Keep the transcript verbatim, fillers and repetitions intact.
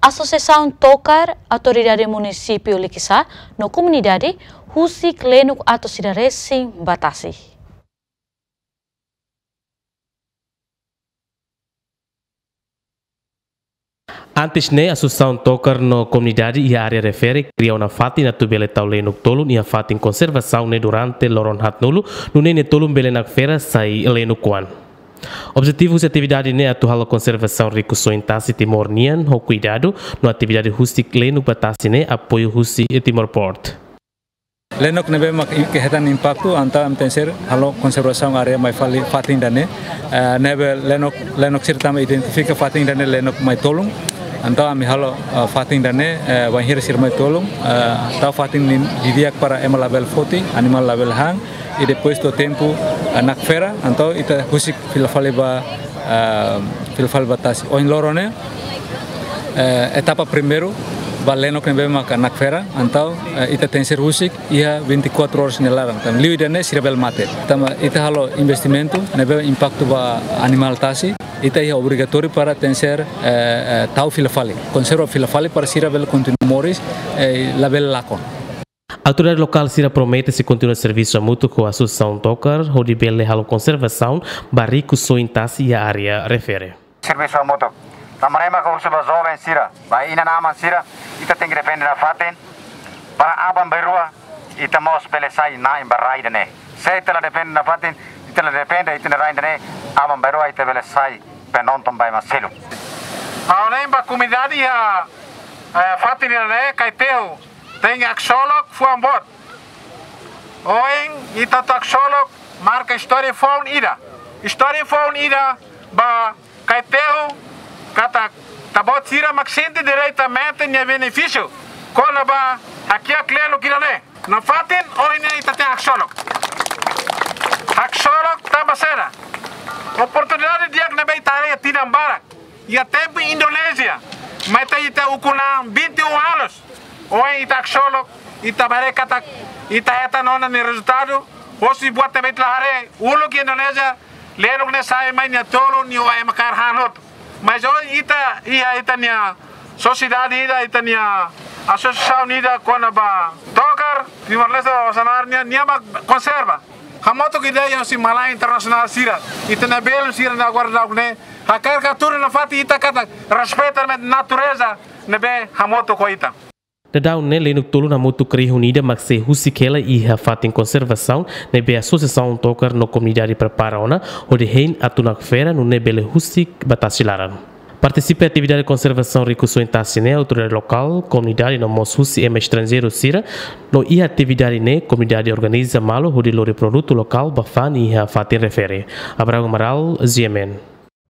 Asosiasaun Tokar, Autoridade Munisípiu Likisá no komunidade husik lenuk atu sira resin ba tasi. Antes ne'e, Asosiasaun Tokar no komunidade iha área refere kria ona fatin atu bele tau lenuk tolun iha fatin konservasaun ne'e durante loron haatnulu, nune'e nia tolun bele nakfera sai lenuk oan. Objetivu husi atividade ne'e atu halo konservasaun rikusoin tasi Timor nian ho kuidadu, no atividade husik lenuk ba tasi ne'e apoiu husi Timor Port. Lenuk ne'ebé mak i-, ke hetan impaktu, entaun ami tenke ser halo konservasaun área mai fali fatin ida-ne'e. Eh, ne'ebé lenuk, lenuk sira tama identifika fatin ida-ne'e lenuk mai tolun. Entaun ami halo, eh, fatin ida-ne'e, eh, bainhira sira mai tolun, eh, tau fatin ne'e didi'ak para ema labele foti, animál labele han, i depois to'o tempu, eh, nakfera, entaun ita husik fila fali ba, eh, fila fali ba tasi. Ohin loron ne'e, eh, etapa primeiru ba lenuk ne'ebé maka nakfera, entaun, eh, ita tenke ser husik iha vinte e quatro horas nia laran. Tanba liu ida-ne'e sira bele mate. Tanba ita halo investimentu ne'ebé impaktu ba animál tasi, ita iha obrigatóriu para tenke ser, eh, eh, tau fila fali, konserva fila fali para sira bele kontinua moris, eh, labele lakon. Autoridade lokál sira promete sei kontinua servisu hamutuk ho Asosiasaun Tokar, hodi bele halo konservasaun ba rikusoin tasi iha área refere. Servisu hamutuk. Tanba ne'e mak husu ba joven sira, ba inan-aman sira, ita tenke depende nafatin, para aban-bainrua ita mós bele sai na'in ba rai ida-ne'e. Se ita la depende nafatin, ita la depende ita-nia rai ida-ne'e, aban-bainrua ita bele sai penonton ba ema seluk. Ha'u hanoin ba komunidade iha, eh, fatin ida-ne'e, Kaitehu tenke haksolok fuan boot. Ohin ita atu haksolok marka istória foun ida. Istória foun ida ba Kaitehu katak ita-boot sira mak sente diretamente nia benefísiu kona-ba hakiak lenuk ida-ne'e. Nafatin ohin ne'e ita tenke haksolok. Haksolok tanba saida? Oportunidade di'ak ne'ebé ita haree tinan barak. Iha tempu Indonézia, mai ita, ita ukun an vinte e um anos. Ohin ita haksolok, ita haree katak, ita hetan ona nia rezultadu, hosi buat ne'ebé ita la haree, uluk iha Indonézia, lenuk ne'e sai mai nia tolun, nia oan ema kaer han hotu. Mas ohin ita, iha ita-nia sosiedade ida, ita-nia asosiasaun ida kona-ba tokar, Timor-Leste, Osan-Aru nian, nia mak konserva. Hamutuk ho ideia husi malae internasionál sira, ita-nia belun sira ne'e agora daudaun ne'e, hakarak hatudu nafatin ita katak respeita natureza ne'ebé hamutuk ho ita. Daudaun ne'e lenuk tolun hamutuk rihun ida mak sei husik hela iha fatin konservasaun ne'ebé Asosiasaun Tokar no komunidade prepara ona, hodi hein atu nakfera nune'e bele husik ba tasi laran. Partisipa atividade konservasaun rikusoin tasi ne'e autoridade lokál, komunidade no mós husi ema estranjeiru sira, no iha atividade ne'e komunidade organiza malu hodi lori produtu lokál ba fa'an iha fatin refere. Abraham Amaral, G M N.